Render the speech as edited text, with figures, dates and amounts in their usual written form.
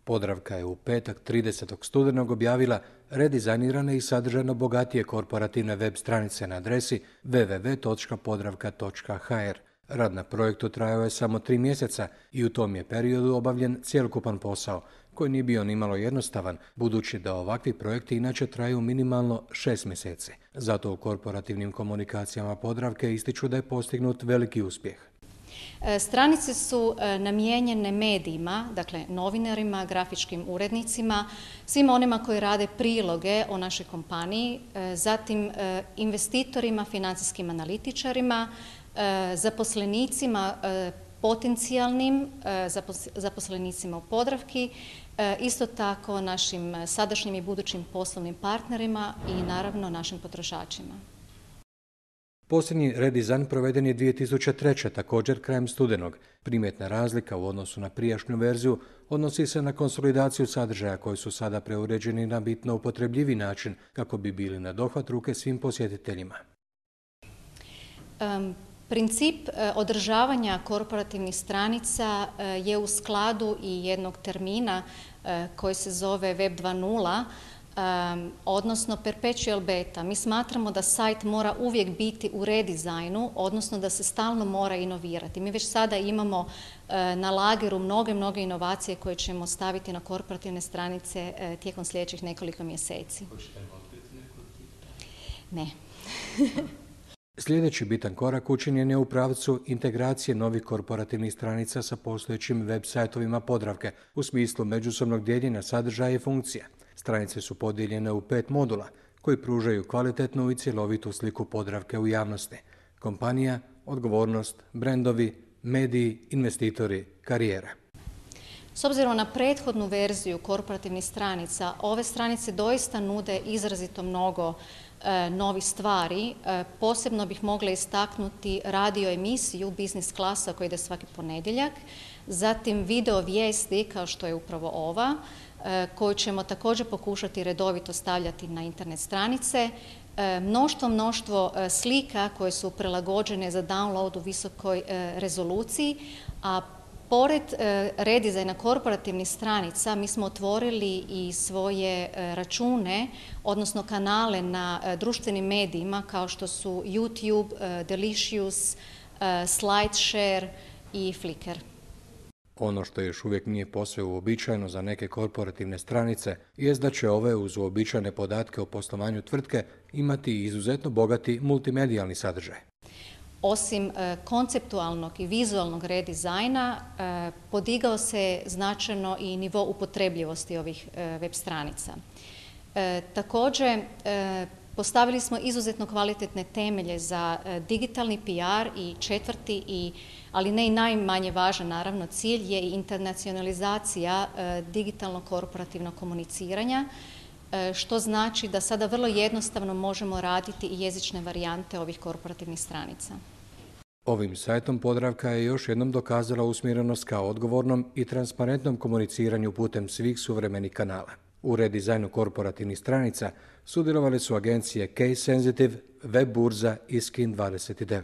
Podravka je u petak 30. studenog objavila redizajnirane i sadržajno bogatije korporativne web stranice na adresi www.podravka.hr. Rad na projektu trajao je samo 3 mjeseca i u tom je periodu obavljen cjelokupan posao, koji nije bio nimalo jednostavan, budući da ovakvi projekti inače traju minimalno 6 mjeseci. Zato u korporativnim komunikacijama Podravke ističu da je postignut veliki uspjeh. Stranice su namijenjene medijima, dakle novinarima, grafičkim urednicima, svima onima koji rade priloge o našoj kompaniji, zatim investitorima, financijskim analitičarima, zaposlenicima, potencijalnim zaposlenicima u Podravki, isto tako našim sadašnjim i budućim poslovnim partnerima i naravno našim potrošačima. Posljednji redizajn proveden je 2003. također krajem studenog. Primjetna razlika u odnosu na prijašnju verziju odnosi se na konsolidaciju sadržaja koji su sada preuređeni na bitno upotrebljivi način kako bi bili na dohvat ruke svim posjetiteljima. Princip održavanja korporativnih stranica je u skladu i jednog termina koji se zove Web 2.0, odnosno perpetual beta. Mi smatramo da sajt mora uvijek biti u redizajnu, odnosno da se stalno mora inovirati. Mi već sada imamo na lageru mnoge inovacije koje ćemo staviti na korporativne stranice tijekom sljedećih nekoliko mjeseci. Ne. Sljedeći bitan korak učinjen je u pravcu integracije novih korporativnih stranica sa postojećim web sajtovima Podravke u smislu međusobnog dijeljenja sadržaja i funkcija. Stranice su podijeljene u 5 modula koji pružaju kvalitetnu i cjelovitu sliku Podravke u javnosti. Kompanija, odgovornost, brendovi, mediji, investitori, karijera. S obzirom na prethodnu verziju korporativnih stranica, ove stranice doista nude izrazito mnogo novih stvari. Posebno bih mogla istaknuti radio emisiju Biznis klasa koja ide svaki ponedjeljak, zatim video vijesti kao što je upravo ova, koju ćemo također pokušati redovito stavljati na internet stranice, mnoštvo slika koje su prilagođene za download u visokoj rezoluciji, a pored redizajna korporativnih stranica mi smo otvorili i svoje račune, odnosno kanale na društvenim medijima kao što su YouTube, Delicious, SlideShare i Flickr. Ono što još uvijek nije posve uobičajeno za neke korporativne stranice jest da će ove uz uobičajene podatke o poslovanju tvrtke imati izuzetno bogati multimedijalni sadržaj. Osim konceptualnog i vizualnog redizajna, podigao se značajno i nivo upotrebljivosti ovih web stranica. Također, postavili smo izuzetno kvalitetne temelje za digitalni PR i četvrti, ali ne i najmanje važan naravno cilj, je i internacionalizacija digitalnog korporativnog komuniciranja, što znači da sada vrlo jednostavno možemo raditi i jezične varijante ovih korporativnih stranica. Ovim sajtom Podravka je još jednom dokazala usmjerenost ka odgovornom i transparentnom komuniciranju putem svih suvremenih kanala. U redizajnu korporativnih stranica sudjelovali su agencije Case Sensitive, Web burza i Skin 29.